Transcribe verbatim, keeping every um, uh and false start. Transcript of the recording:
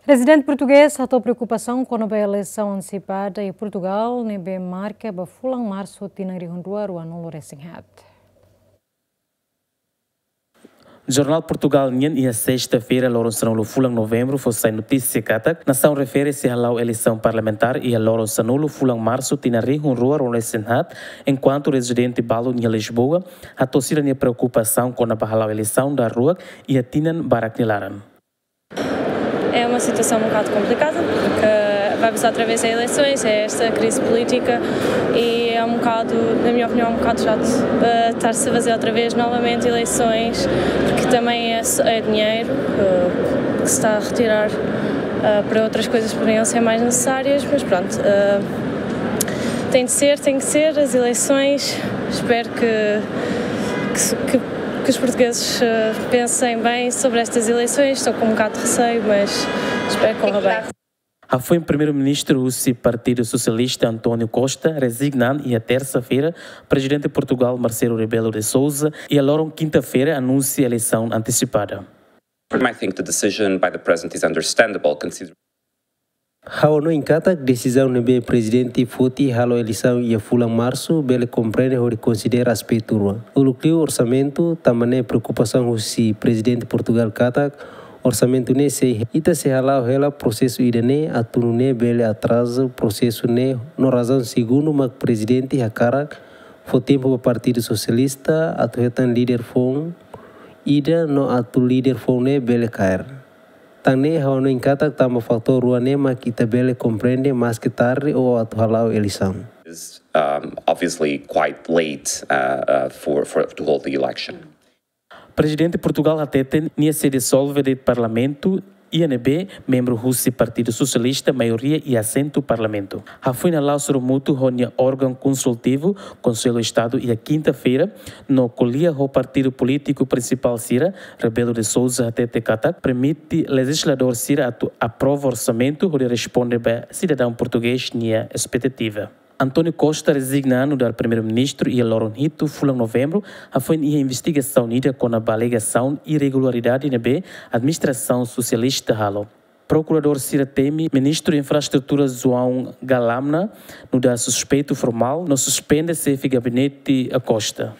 Prezidente portugés hato'o preokupasaun kona-ba eleisaun antesipada iha Portugal ne'ebé marka ba fulan Marsu tinan rihun rua rua-nulu resin haat. Jornál Portugal nian iha sesta-feira, loron sanulu fulan Novembru, fó sai notísia katak nasaun refere sei hala'o eleisaun parlamentár iha loron sanulu fulan Marsu tinan rihun rua rua-nulu resin haat, enkuantu rezidente balu iha Lisboa hato'o sira-nia preokupasaun kona-ba hala'o eleisaun daruak iha tinan barak nia laran. É uma situação um bocado complicada, porque vamos outra vez a eleições, é esta crise política e é um bocado, na minha opinião, um bocado chato, eh, estar-se a fazer outra vez novamente eleições, porque também é, é dinheiro, eh, que se está a retirar, eh, para outras coisas que poderiam ser mais necessárias, mas pronto, eh, tem de ser, tem que ser as eleições. Espero que, que, se- que, que os portugueses, eh, pensem bem sobre estas eleições. Estou com um bocado de receio, mas espero que corra bem. Hafoin Primeiru-Ministru husi Partidu Sosialista António Costa rezigna an iha tersa-feira, Prezidente Portugal Marcelo Rebelo de Sousa iha loron kinta-feira anunsia eleisaun antesipada. I think the decision by the president is understandable, considering Ha'u hanoin katak desizaun ne'ebé prezidente foti halo eleisaun iha fulan Marsu bele komprende hodi konsidera aspetu rua. Uluk liu orsamentu, tanba ne'e preokupasaun husi prezidente Portugal katak orsamentu ne'e sei ita sei hala'o hela prosesu ida-ne'e atu nune'e bele atraza prosesu ne'e no razaun segundu mak prezidente hakarak fó tempu ba Partidu Sosialista atu hetan líder foun ida no atu líder foun ne'e bele kaer. Tan ne'e ha'u hanoin katak tanba fatór rua ne'e mak ita bele komprende maske tarde ou atu hala'o eleisaun. Is um, obviously quite late uh, uh, for, for to hold the election. Prezidente Portugal hateten nia sei dizolve de'it Parlamentu iha ne'ebé membru husi Partidu Sosialista maioria iha asentu Parlamentu. Hafoin hala'o sorumutu ho nia órgaun konsultivu, Konsellu Estadu, iha kinta-feira, no ko'alia ho partidu polítiku prinsipál sira, Rebelo de Sousa hatete katak permite lejizladór sira atu aprova orsamentu hodi responde ba sidadaun portugés nia espetativa. António Costa rezigna an nu'udar Primeiru-Ministru iha loron hitu fulan Novembru, hafoin iha investigasaun ida kona-ba alegasaun irregularidade ne'ebé administrasaun sosialista halo. Prokuradór sira temi Ministru Infraestrutura João Galamna nu'udar suspeitu formál no suspende xefe gabinete Costa.